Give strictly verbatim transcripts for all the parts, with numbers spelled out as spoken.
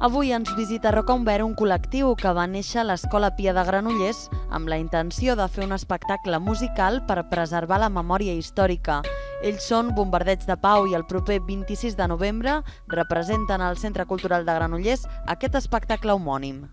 Avui ens visita a Roca Umbert un col·lectiu que va néixer a l'Escola Pia de Granollers amb la intenció de fer un espectacle musical per preservar la memòria històrica. Ells són Bombardeig de Pau i el proper vint-i-sis de novembre representen al Centre Cultural de Granollers aquest espectacle homònim.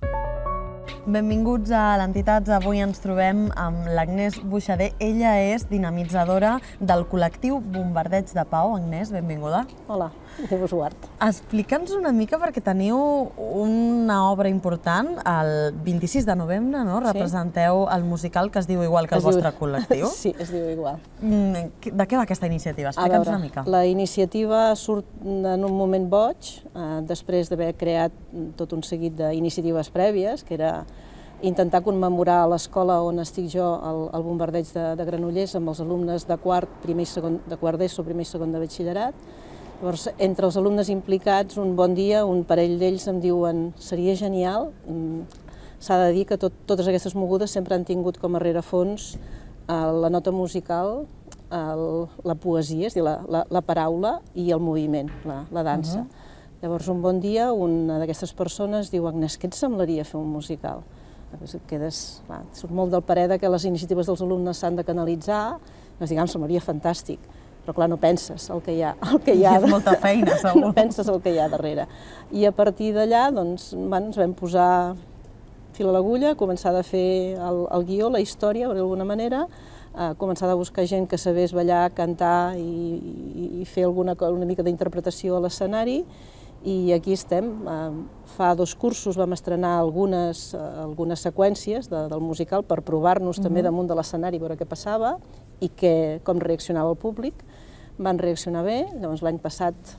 Benvinguts a l'Entitats. Avui ens trobem amb l'Agnès Buixader. Ella és dinamitzadora del col·lectiu Bombardeig de Pau. Agnès, benvinguda. Hola, Déu us guard. Explica'ns una mica, perquè teniu una obra important el vint-i-sis de novembre, no? Representeu el musical que es diu igual que el vostre col·lectiu. Sí, es diu igual. De què va aquesta iniciativa? Explica'ns una mica. La iniciativa surt en un moment boig, després d'haver creat tot un seguit d'iniciatives prèvies, que era intentar commemorar a l'escola on estic jo, el Bombardeig de Granollers, amb els alumnes de quart, primer i segon, de quart d'ESO, primer i segon de batxillerat. Llavors, entre els alumnes implicats, un bon dia, un parell d'ells em diuen seria genial. S'ha de dir que totes aquestes mogudes sempre han tingut com a rerefons la nota musical, la poesia, és a dir, la paraula i el moviment, la dansa. Llavors, un bon dia, una d'aquestes persones diu: Agnès, què et semblaria fer un musical? Quedes, surt molt del parer que les iniciatives dels alumnes s'han de canalitzar, ens diguem, semblaria fantàstic, però clar, no penses el que hi ha. Hi ha molta feina, segur. No penses el que hi ha darrere. I a partir d'allà, doncs, ens vam posar fil a l'agulla, començar a fer el guió, la història, d'alguna manera, començar a buscar gent que sabés ballar, cantar i fer una mica d'interpretació a l'escenari. I aquí estem. Fa dos cursos vam estrenar algunes seqüències del musical per provar-nos també damunt de l'escenari, veure què passava i com reaccionava el públic. Van reaccionar bé, llavors l'any passat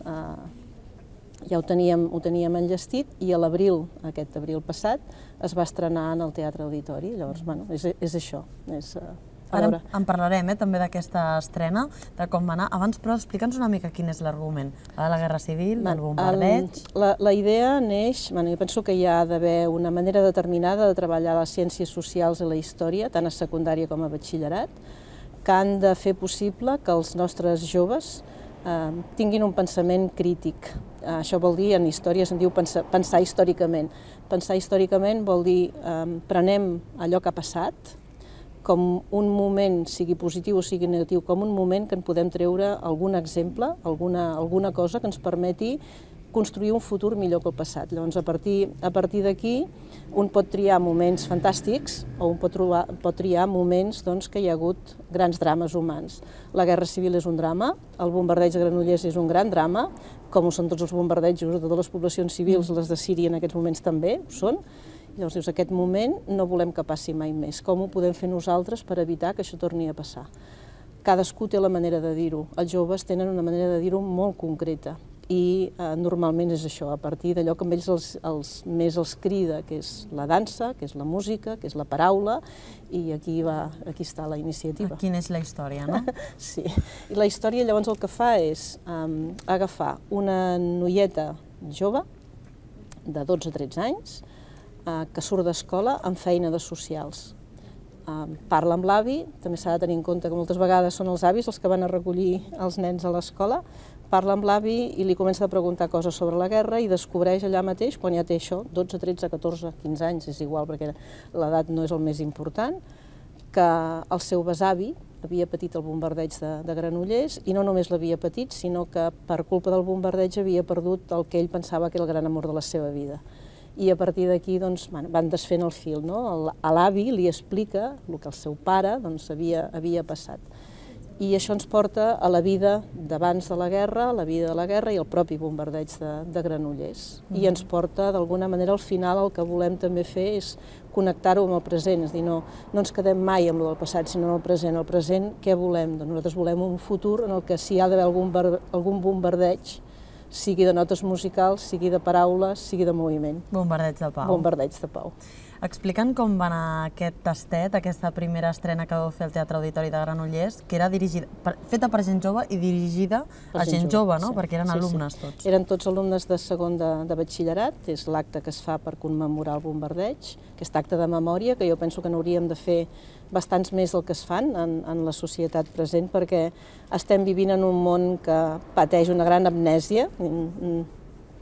ja ho teníem enllestit i a l'abril, aquest abril passat, es va estrenar en el Teatre Auditori. Llavors, bueno, és això. Ara en parlarem també d'aquesta estrena, de com va anar. Abans, però, explica'ns una mica quin és l'argument. De la Guerra Civil, del bombardeig... La idea neix, jo penso que hi ha d'haver una manera determinada de treballar les ciències socials i la història, tant a secundària com a batxillerat, que han de fer possible que els nostres joves tinguin un pensament crític. Això vol dir, en història se'n diu pensar històricament. Pensar històricament vol dir prenem allò que ha passat, com un moment, sigui positiu o sigui negatiu, com un moment que en podem treure algun exemple, alguna cosa que ens permeti construir un futur millor que el passat. Llavors, a partir d'aquí, un pot triar moments fantàstics o un pot triar moments que hi ha hagut grans drames humans. La Guerra Civil és un drama, el bombardeig de Granollers és un gran drama, com ho són tots els bombardejos de totes les poblacions civils, les de Síria en aquests moments també ho són. Llavors dius, aquest moment no volem que passi mai més. Com ho podem fer nosaltres per evitar que això torni a passar? Cadascú té la manera de dir-ho. Els joves tenen una manera de dir-ho molt concreta i normalment és això, a partir d'allò que amb ells més els crida, que és la dansa, que és la música, que és la paraula, i aquí està la iniciativa. Quina és la història, no? Sí. I la història llavors el que fa és agafar una noieta jove de dotze a tretze anys que surt d'escola amb feina de socials. Parla amb l'avi, també s'ha de tenir en compte que moltes vegades són els avis els que van a recollir els nens a l'escola, parla amb l'avi i li comença a preguntar coses sobre la guerra i descobreix allà mateix, quan ja té això, dotze, tretze, catorze, quinze anys, és igual perquè l'edat no és el més important, que el seu besavi havia patit el bombardeig de Granollers i no només l'havia patit, sinó que per culpa del bombardeig havia perdut el que ell pensava que era el gran amor de la seva vida. I a partir d'aquí van desfent el fil. L'avi li explica el que el seu pare havia passat. I això ens porta a la vida d'abans de la guerra, a la vida de la guerra i el propi bombardeig de Granollers. I ens porta, d'alguna manera, al final el que volem també fer és connectar-ho amb el present, és a dir, no ens quedem mai amb el del passat, sinó en el present. El present, què volem? Nosaltres volem un futur en el que si hi ha d'haver algun bombardeig, sigui de notes musicals, sigui de paraules, sigui de moviment. Bombardeig de Pau. Bombardeig de Pau. Explica'ns com va anar aquest tastet, aquesta primera estrena que vau fer al Teatre Auditori de Granollers, que era feta per gent jove i dirigida a gent jove, no? Perquè eren alumnes tots. Eren tots alumnes de segon de batxillerat, és l'acte que es fa per commemorar el bombardeig, aquest acte de memòria, que jo penso que n'hauríem de fer bastants més del que es fan en la societat present, perquè estem vivint en un món que pateix una gran amnèsia,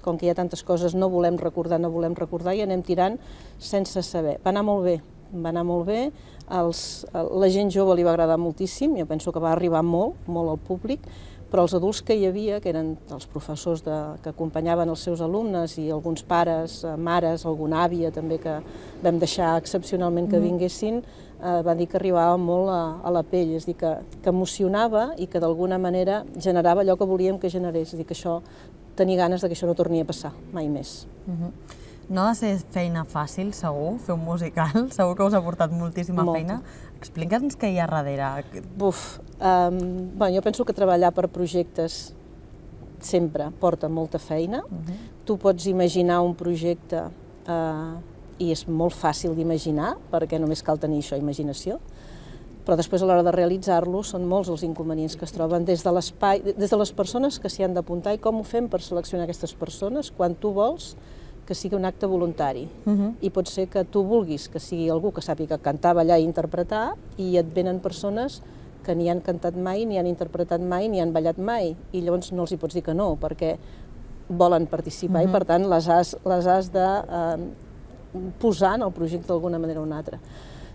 com que hi ha tantes coses, no volem recordar, no volem recordar, i anem tirant sense saber. Va anar molt bé, va anar molt bé, els, la gent jove li va agradar moltíssim, jo penso que va arribar molt, molt al públic, però els adults que hi havia, que eren els professors de, que acompanyaven els seus alumnes i alguns pares, mares, alguna àvia també que vam deixar excepcionalment que vinguessin, eh, va dir que arribava molt a, a la pell, és a dir, que, que emocionava i que d'alguna manera generava allò que volíem que generés, és a dir, que això, tenir ganes de que això no torni a passar, mai més. Uh-huh. No ha de ser feina fàcil, segur, fer un musical, segur que us ha portat moltíssima Molta. feina. Explica'ns què hi ha darrere. Buf, um, bueno, jo penso que treballar per projectes sempre porta molta feina. Uh-huh. Tu pots imaginar un projecte uh, i és molt fàcil d'imaginar, perquè només cal tenir això, imaginació, però després a l'hora de realitzar-lo són molts els inconvenients que es troben des de l'espai, des de les persones que s'hi han d'apuntar i com ho fem per seleccionar aquestes persones quan tu vols que sigui un acte voluntari. Uh-huh. I pot ser que tu vulguis que sigui algú que sàpiga cantar, ballar i interpretar, i et venen persones que ni han cantat mai, ni han interpretat mai, ni han ballat mai, i llavors no els hi pots dir que no, perquè volen participar, uh-huh. i per tant les has, les has de eh, posar en el projecte d'alguna manera o una altra.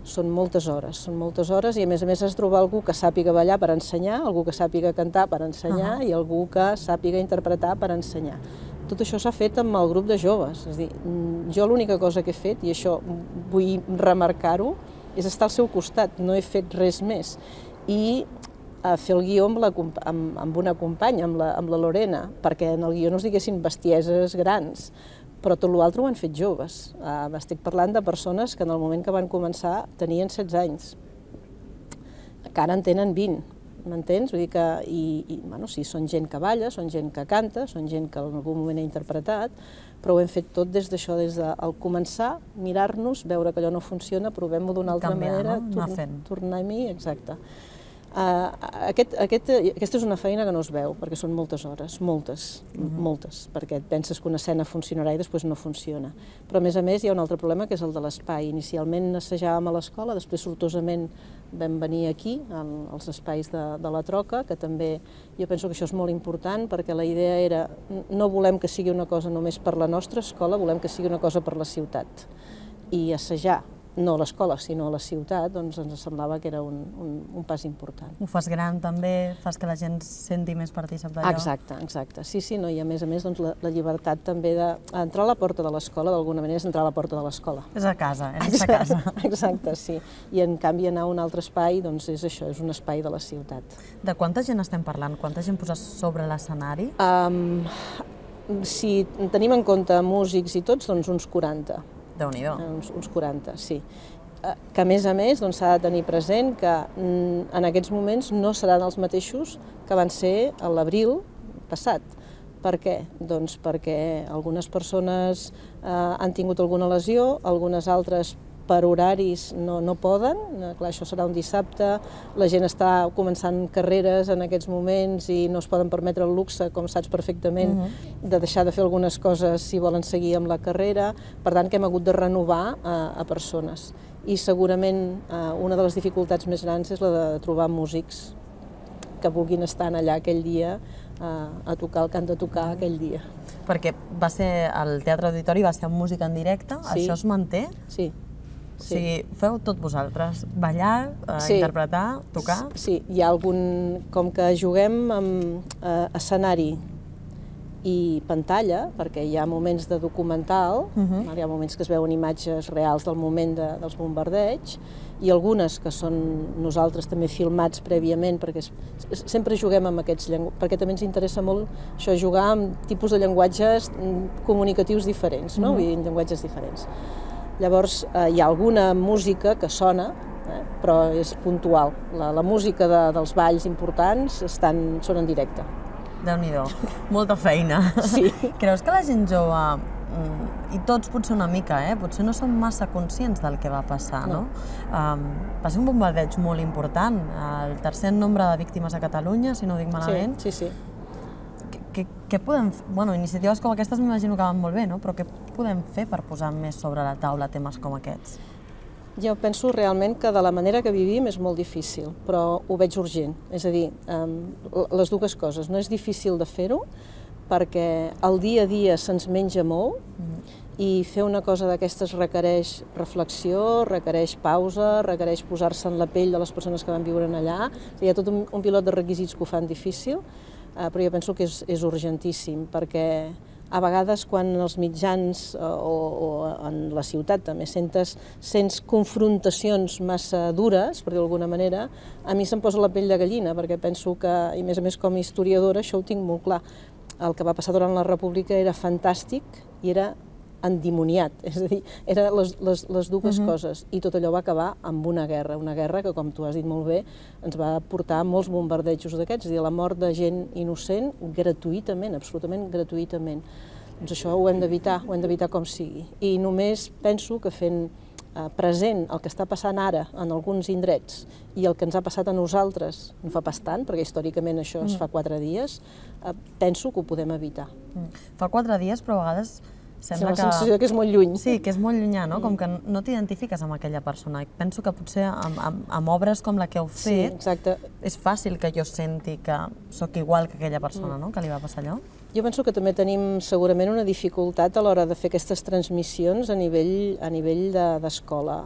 Són moltes hores, són moltes hores, i a més a més has de trobar algú que sàpiga ballar per ensenyar, algú que sàpiga cantar per ensenyar, uh-huh. i algú que sàpiga interpretar per ensenyar. Tot això s'ha fet amb el grup de joves, és a dir, jo l'única cosa que he fet, i això vull remarcar-ho, és estar al seu costat, no he fet res més. I a fer el guió amb, la, amb, amb una companya, amb la, amb la Lorena, perquè en el guió no es diguessin bestieses grans, però tot l'altre ho han fet joves. Uh, estic parlant de persones que en el moment que van començar tenien setze anys, que ara en tenen vint. M'entens? Vull dir que, i, i, bueno, sí, són gent que balla, són gent que canta, són gent que en algun moment ha interpretat, però ho hem fet tot des d'això, des del començar, mirar-nos, veure que allò no funciona, provem-ho d'una altra Canviar, manera, no? tor tornar-hi, exacte. Uh, aquest, aquest, aquesta és una feina que no es veu, perquè són moltes hores, moltes, uh-huh. moltes, perquè et penses que una escena funcionarà i després no funciona. Però a més a més hi ha un altre problema, que és el de l'espai. Inicialment assajàvem a l'escola, després sortosament vam venir aquí, als espais de, de la Troca, que també jo penso que això és molt important, perquè la idea era, no volem que sigui una cosa només per la nostra escola, volem que sigui una cosa per la ciutat. I assajar, no a l'escola, sinó a la ciutat, doncs ens semblava que era un, un, un pas important. Ho fas gran també, fas que la gent senti més partícip d'allò. Exacte, exacte. Sí, sí, no? I a més a més doncs, la, la llibertat també d'entrar a la porta de l'escola, d'alguna manera és entrar a la porta de l'escola. És a casa, és a casa. Exacte, sí. I en canvi anar a un altre espai, doncs és això, és un espai de la ciutat. De quanta gent estem parlant? Quanta gent poses sobre l'escenari? Um, si tenim en compte músics i tots, doncs uns quaranta. Déu-n'hi-do. Uns, uns quaranta, sí. Que a més a més s'ha doncs, de tenir present que en aquests moments no seran els mateixos que van ser a l'abril passat. Per què? Doncs perquè algunes persones eh, han tingut alguna lesió, algunes altres per horaris no, no poden, clar, això serà un dissabte, la gent està començant carreres en aquests moments i no es poden permetre el luxe, com saps perfectament, uh-huh. de deixar de fer algunes coses si volen seguir amb la carrera, per tant que hem hagut de renovar a, a persones. I segurament eh, una de les dificultats més grans és la de trobar músics que vulguin estar allà aquell dia eh, a tocar el que han de tocar aquell dia. Perquè va ser, el Teatre Auditori va ser amb música en directe, sí. Això es manté? Sí. O sigui, feu tot vosaltres, ballar, eh, sí. interpretar, tocar? Sí, hi ha algun... Com que juguem amb eh, escenari i pantalla, perquè hi ha moments de documental, uh-huh. hi ha moments que es veuen imatges reals del moment de, dels bombardeigs, i algunes que són nosaltres també filmats prèviament, perquè es, sempre juguem amb aquests llenguatges, perquè també ens interessa molt això, jugar amb tipus de llenguatges comunicatius diferents, no? Uh-huh. Vull dir, llenguatges diferents. Llavors, eh, hi ha alguna música que sona, eh, però és puntual. La, la música de, dels balls importants estan, són en directe. Déu-n'hi-do, molta feina. Sí. Creus que la gent jove, i tots potser una mica, eh, potser no són massa conscients del que va passar, no? no? Um, va ser un bombardeig molt important, el tercer nombre de víctimes a Catalunya, si no ho dic malament. Sí, sí, sí. Què, què podem fer? Bueno, iniciatives com aquestes m'imagino que van molt bé, no? Però què podem fer per posar més sobre la taula temes com aquests? Jo penso realment que de la manera que vivim és molt difícil, però ho veig urgent. És a dir, um, les dues coses. No és difícil de fer-ho, perquè el dia a dia se'ns menja molt i fer una cosa d'aquestes requereix reflexió, requereix pausa, requereix posar-se en la pell de les persones que van viure allà. Hi ha tot un, un pilot de requisits que ho fan difícil, eh, però jo penso que és, és urgentíssim, perquè a vegades quan els mitjans o, o en la ciutat també sentes, sents confrontacions massa dures, per dir d'alguna manera, a mi se'm posa la pell de gallina, perquè penso que, i a més a més com a historiadora, això ho tinc molt clar. El que va passar durant la República era fantàstic i era endimoniat, és a dir, eren les, les, les dues uh-huh. coses, i tot allò va acabar amb una guerra, una guerra que, com tu has dit molt bé, ens va portar molts bombardejos d'aquests, és a dir, la mort de gent innocent gratuïtament, absolutament gratuïtament. Doncs això ho hem d'evitar, ho hem d'evitar com sigui. I només penso que fent eh, present el que està passant ara en alguns indrets i el que ens ha passat a nosaltres, no fa pas tant, perquè històricament això es fa quatre dies, eh, penso que ho podem evitar. Mm. Fa quatre dies, però a vegades sembla la sensació que és molt lluny. Sí, que és molt llunyà, no? Com que no t'identifiques amb aquella persona. Penso que potser amb, amb, amb obres com la que heu fet, sí, exacte. És fàcil que jo senti que sóc igual que aquella persona, no? Que li va passar allò. Jo penso que també tenim segurament una dificultat a l'hora de fer aquestes transmissions a nivell, a nivell d'escola,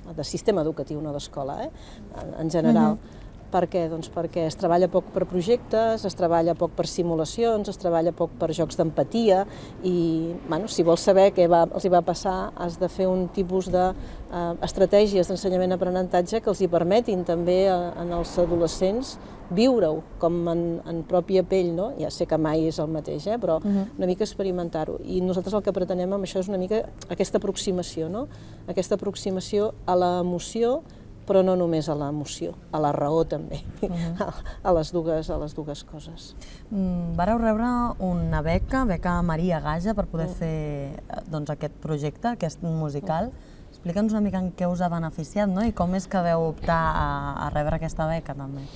de, de sistema educatiu, no d'escola, eh? en, en general. Uh-huh. Per què? Doncs perquè es treballa poc per projectes, es treballa poc per simulacions, es treballa poc per jocs d'empatia i, bueno, si vols saber què va, els hi va passar, has de fer un tipus d'estratègies de, eh, d'ensenyament-aprenentatge que els hi permetin també a, en els adolescents viure-ho com en, en pròpia pell, no? Ja sé que mai és el mateix, eh? Però uh-huh. una mica experimentar-ho. I nosaltres el que pretenem amb això és una mica aquesta aproximació, no? Aquesta aproximació a l'emoció, però no només a l'emoció, a la raó també, uh-huh. a, les dues, a les dues coses. Mm, vareu rebre una beca, beca Maria Gaja, per poder uh-huh. fer doncs, aquest projecte, aquest musical. Uh-huh. Explica'ns una mica en què us ha beneficiat, no? I com és que veu optar a, a rebre aquesta beca també.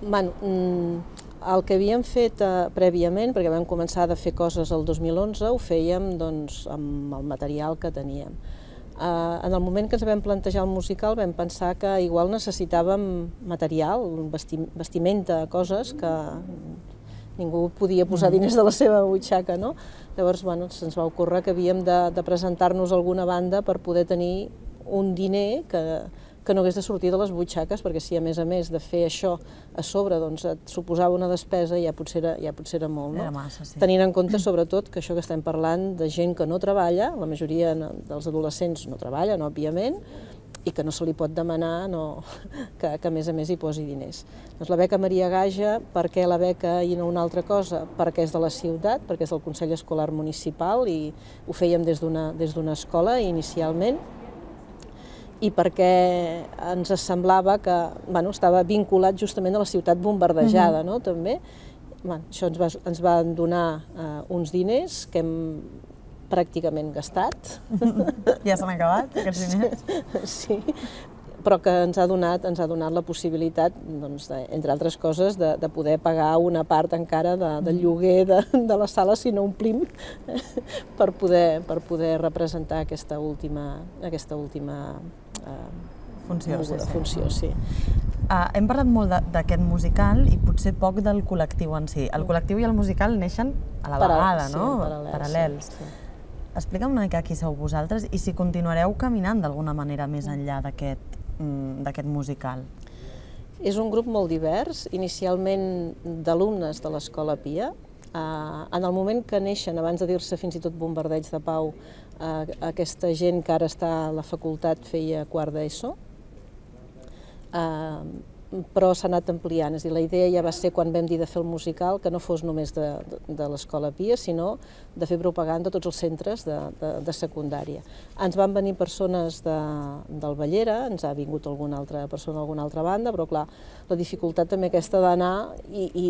Bueno, el que havíem fet eh, prèviament, perquè vam començar a fer coses el dos mil onze, ho fèiem doncs, amb el material que teníem. Uh, en el moment que ens vam plantejar el musical vam pensar que igual necessitàvem material, vesti vestimenta, coses que ningú podia posar diners de la seva butxaca, no? Llavors, bueno, se'ns va ocórrer que havíem de, de presentar-nos a alguna banda per poder tenir un diner que, que no hagués de sortir de les butxaques, perquè si a més a més de fer això a sobre doncs, et suposava una despesa, ja potser era, ja potser era molt. No? Era massa, sí. Tenint en compte, sobretot, que això que estem parlant de gent que no treballa, la majoria dels adolescents no treballen, òbviament, i que no se li pot demanar no, que, que a més a més hi posi diners. Doncs la beca Maria Gaja, per què la beca i no una altra cosa? Perquè és de la ciutat, perquè és del Consell Escolar Municipal i ho fèiem des d'una des d'una escola inicialment, i perquè ens semblava que bueno, estava vinculat justament a la ciutat bombardejada, uh-huh. no? També. Bueno, això ens va, ens van donar uh, uns diners que hem pràcticament gastat. Ja s'han acabat, aquests diners? Sí, però que ens ha donat, ens ha donat la possibilitat, doncs, de, entre altres coses, de, de poder pagar una part encara de, del lloguer de, de la sala, si no omplim, per poder, per poder representar aquesta última, aquesta última eh, funció. Sí, sí. funció sí. Uh, hem parlat molt d'aquest musical i potser poc del col·lectiu en si. El col·lectiu i el musical neixen a la vegada, sí, no? Paral·lels. Paral·lels. Sí, sí. Explica'm una mica qui sou vosaltres i si continuareu caminant d'alguna manera més enllà d'aquest d'aquest musical. És un grup molt divers, inicialment d'alumnes de l'Escola Pia. En el moment que neixen, abans de dir-se fins i tot Bombardeig de Pau, aquesta gent que ara està a la facultat feia quart d'ESO, però s'ha anat ampliant. És a dir, la idea ja va ser, quan vam dir de fer el musical, que no fos només de, de, de l'Escola Pia, sinó de fer propaganda a tots els centres de, de, de secundària. Ens van venir persones de, del Bellera, ens ha vingut alguna altra persona d'alguna altra banda, però clar, la dificultat també aquesta d'anar i, i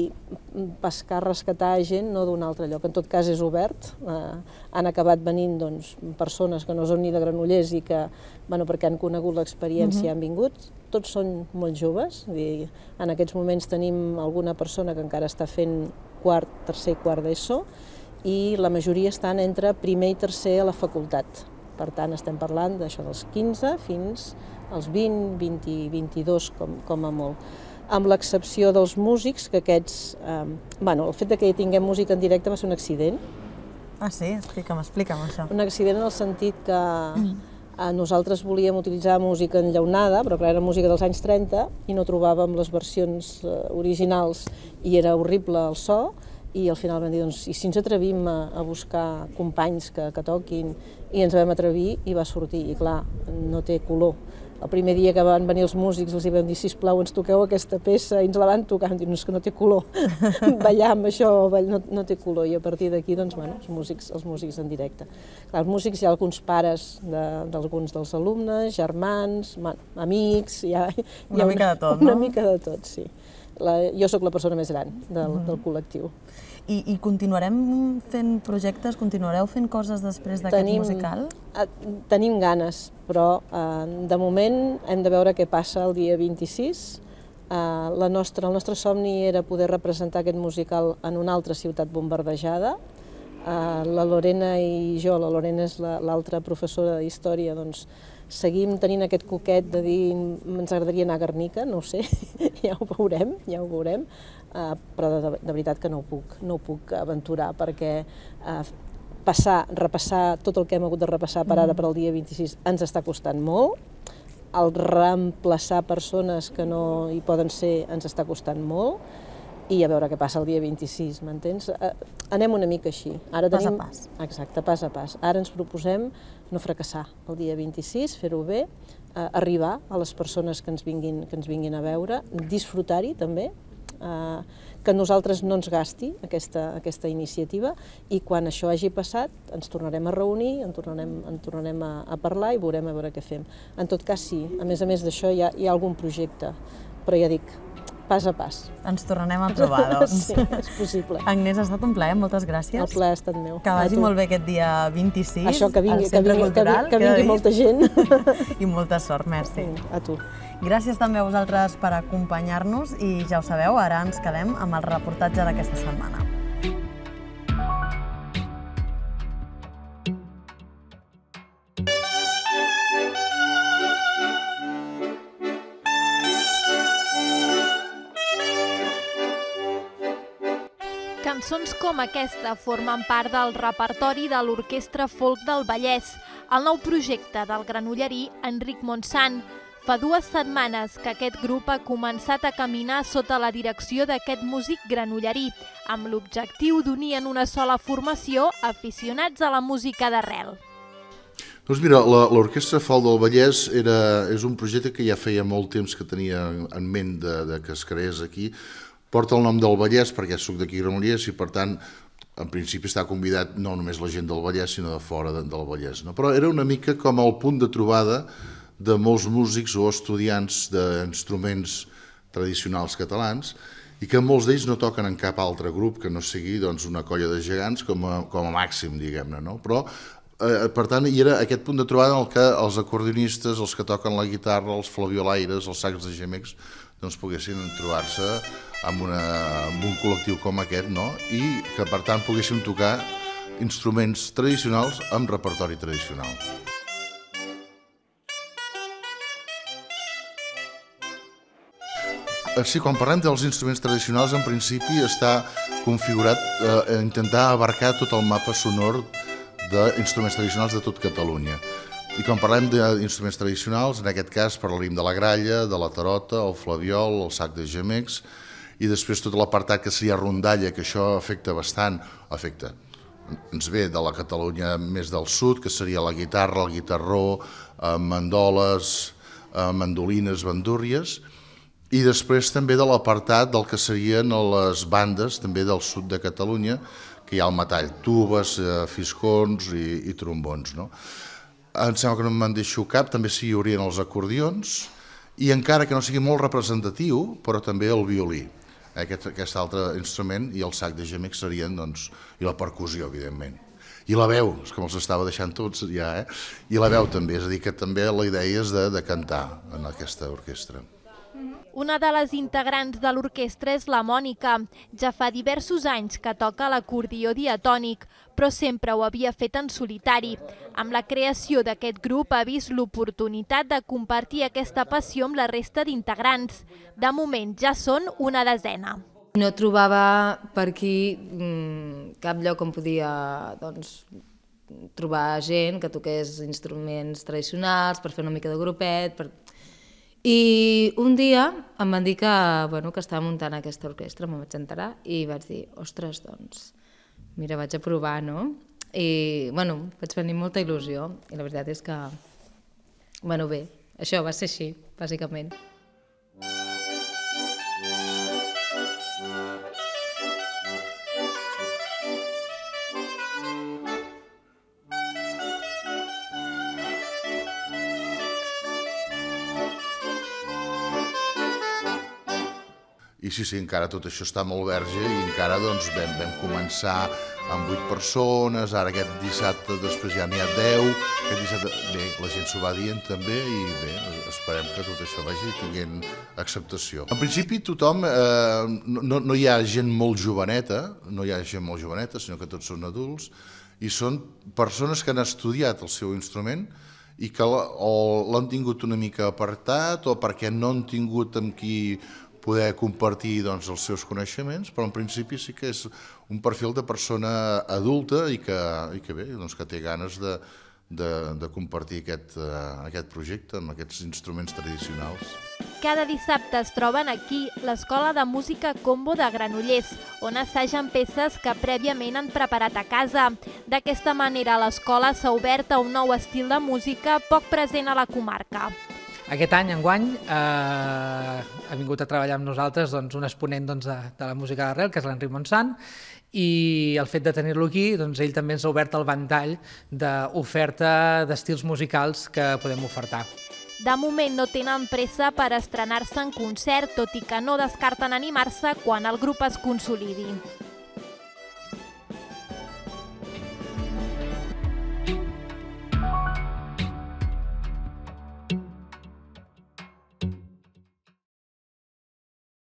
pescar, rescatar gent no d'un altre lloc. En tot cas és obert, eh, han acabat venint doncs, persones que no són ni de Granollers i que, bueno, perquè han conegut l'experiència, uh-huh. han vingut. Tots són molt joves, dir, en aquests moments tenim alguna persona que encara està fent quart, tercer i quart d'ESO i la majoria estan entre primer i tercer a la facultat. Per tant, estem parlant d'això dels quinze fins als vint, vint, vint-i-dos com, com a molt. amb l'excepció dels músics, que aquests... Eh, bueno, el fet de que hi tinguem música en directe va ser un accident. Ah, sí? Explica'm, explica'm això. Un accident en el sentit que eh, nosaltres volíem utilitzar música enllaunada, però clar, era música dels anys trenta, i no trobàvem les versions eh, originals, i era horrible el so, i al final vam dir, doncs, i si ens atrevim a, a buscar companys que, que toquin, i ens vam atrevir i va sortir, i clar, no té color. El primer dia que van venir els músics els hi vam dir, sisplau, ens toqueu aquesta peça, i ens la van tocar, vam dir, no, és que no té color, ballar amb això no, no té color, i a partir d'aquí, doncs, bueno, els músics, els músics en directe. Clar, els músics hi ha alguns pares d'alguns de, dels alumnes, germans, man, amics, hi ha, hi ha una, una mica de tot, una no? Una mica de tot, sí. La, jo sóc la persona més gran del, del col·lectiu. I, I continuarem fent projectes, continuareu fent coses després d'aquest musical? Tenim ganes, però eh, de moment hem de veure què passa el dia vint-i-sis. Eh, la nostra, el nostre somni era poder representar aquest musical en una altra ciutat bombardejada. Eh, la Lorena i jo, la Lorena és l'altra professora d'història, doncs seguim tenint aquest coquet de dir ens agradaria anar a Guernica, no ho sé, ja ho veurem, ja ho veurem, uh, però de, de veritat que no ho puc, no ho puc aventurar perquè uh, passar, repassar tot el que hem hagut de repassar per ara per al dia vint-i-sis ens està costant molt, el reemplaçar persones que no hi poden ser ens està costant molt, i a veure què passa el dia vint-i-sis, m'entens? Anem una mica així. Ara pas tenim... a pas. Exacte, pas a pas. Ara ens proposem no fracassar el dia vint-i-sis, fer-ho bé, eh, arribar a les persones que ens vinguin, que ens vinguin a veure, disfrutar-hi també, eh, que a nosaltres no ens gasti aquesta, aquesta iniciativa, i quan això hagi passat ens tornarem a reunir, en tornarem, en tornarem a, a parlar i veurem a veure què fem. En tot cas, sí, a més a més d'això hi ha, hi ha algun projecte, però ja dic, pas a pas. Ens tornarem a trobar, doncs. Sí, és possible. Agnès, ha estat un plaer, moltes gràcies. El plaer ha estat meu. Que vagi molt bé aquest dia vint-i-sis, això, que vingui, al Centre que vingui, Cultural. Que vingui, que vingui molta gent. I molta sort, merci. A tu. Gràcies també a vosaltres per acompanyar-nos i ja ho sabeu, ara ens quedem amb el reportatge d'aquesta setmana. Cançons com aquesta formen part del repertori de l'Orquestra Folk del Vallès, el nou projecte del granollerí Enric Montsant. Fa dues setmanes que aquest grup ha començat a caminar sota la direcció d'aquest músic granollerí, amb l'objectiu d'unir en una sola formació aficionats a la música d'arrel. Doncs mira, l'Orquestra Folk del Vallès era, és un projecte que ja feia molt temps que tenia en ment de, de que es creés aquí. Porta el nom del Vallès perquè soc d'aquí Granollers i, per tant, en principi està convidat no només la gent del Vallès, sinó de fora de, del Vallès. No? Però era una mica com el punt de trobada de molts músics o estudiants d'instruments tradicionals catalans i que molts d'ells no toquen en cap altre grup que no sigui doncs, una colla de gegants com a, com a màxim, diguem-ne. No? Però, eh, per tant, hi era aquest punt de trobada en què els acordionistes, els que toquen la guitarra, els flabiolaires, els sacs de gemecs, doncs poguessin trobar-se amb, una, amb un col·lectiu com aquest, no? I que per tant poguéssim tocar instruments tradicionals amb repertori tradicional. Sí, quan parlem dels instruments tradicionals, en principi està configurat eh, a intentar abarcar tot el mapa sonor d'instruments tradicionals de tot Catalunya. I quan parlem d'instruments tradicionals, en aquest cas parlarem de la gralla, de la tarota, el flabiol, el sac de gemecs, i després tot l'apartat que seria rondalla, que això afecta bastant, afecta, ens ve de la Catalunya més del sud, que seria la guitarra, el guitarró, eh, mandoles, eh, mandolines, bandúrries, i després també de l'apartat del que serien les bandes també del sud de Catalunya, que hi ha el metall, tubes, eh, fiscons i, i trombons, no? Em sembla que no me'n deixo cap, també s'hi haurien els acordions, i encara que no sigui molt representatiu, però també el violí, aquest, aquest altre instrument, i el sac de gemecs serien, doncs, i la percussió, evidentment. I la veu, és que me'ls estava deixant tots ja, eh? I la veu també, és a dir, que també la idea és de, de cantar en aquesta orquestra. Una de les integrants de l'orquestra és la Mònica. Ja fa diversos anys que toca l'acordió diatònic, però sempre ho havia fet en solitari. Amb la creació d'aquest grup ha vist l'oportunitat de compartir aquesta passió amb la resta d'integrants. De moment ja són una desena. No trobava per aquí cap lloc on podia doncs, trobar gent que toqués instruments tradicionals per fer una mica de grupet. Per... I un dia em van dir que, bueno, que estava muntant aquesta orquestra, me'n vaig enterar i vaig dir, ostres, doncs, mira, vaig a provar, no? I, bueno, vaig venir molta il·lusió i la veritat és que, bueno, bé, això va ser així, bàsicament. I sí, sí, encara tot això està molt verge i encara doncs vam, vam començar amb vuit persones, ara aquest dissabte després ja n'hi ha deu, aquest dissabte, bé, la gent s'ho va dient també i bé, esperem que tot això vagi tinguent acceptació. En principi tothom, eh, no, no hi ha gent molt joveneta, no hi ha gent molt joveneta, sinó que tots són adults i són persones que han estudiat el seu instrument i que o l'han tingut una mica apartat o perquè no han tingut amb qui poder compartir doncs, els seus coneixements, però en principi sí que és un perfil de persona adulta i que, i que, bé, doncs, que té ganes de, de, de compartir aquest, uh, aquest projecte amb aquests instruments tradicionals. Cada dissabte es troben aquí l'Escola de Música Combo de Granollers, on assagen peces que prèviament han preparat a casa. D'aquesta manera l'escola s'ha obert a un nou estil de música poc present a la comarca. Aquest any, enguany, eh, ha vingut a treballar amb nosaltres doncs, un exponent doncs, de, de la música d'arrel, que és l'Enric Montsant, i el fet de tenir-lo aquí, doncs, ell també ens ha obert el ventall d'oferta d'estils musicals que podem ofertar. De moment no tenen pressa per estrenar-se en concert, tot i que no descarten animar-se quan el grup es consolidi.